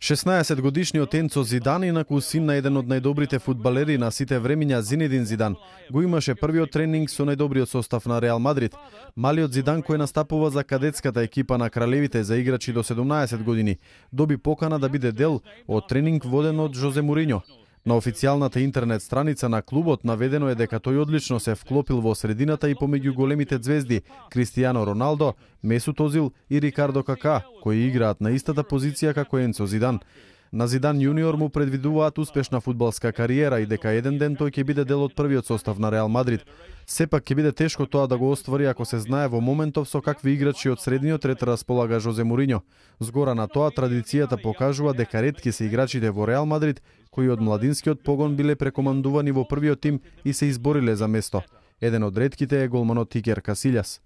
16-годишниот Енцо Зидан, инаку син на еден од најдобрите фудбалери на сите времиња Зинедин Зидан, го имаше првиот тренинг со најдобриот состав на Реал Мадрид. Малиот Зидан, кој настапува за кадетската екипа на кралевите за играчи до 17 години, доби покана да биде дел од тренинг воден од Жозе Мориньо. На официјалната интернет страница на клубот наведено е дека тој одлично се вклопил во средината и помеѓу големите звезди Кристијано Роналдо, Месут Озил и Рикардо Кака, кои играат на истата позиција како Енцо Зидан. На Зидан јуниор му предвидуваат успешна фудбалска кариера и дека еден ден тој ќе биде дел од првиот состав на Реал Мадрид. Сепак ќе биде тешко тоа да го оствари ако се знае во моментов со какви играчи од средниот ред располага Жозе Мориньо. Згора на тоа, традицијата покажува дека ретки се играчите во Реал Мадрид кои од младинскиот погон биле прекомандувани во првиот тим и се избориле за место. Еден од ретките е голманот Икер Касилјас.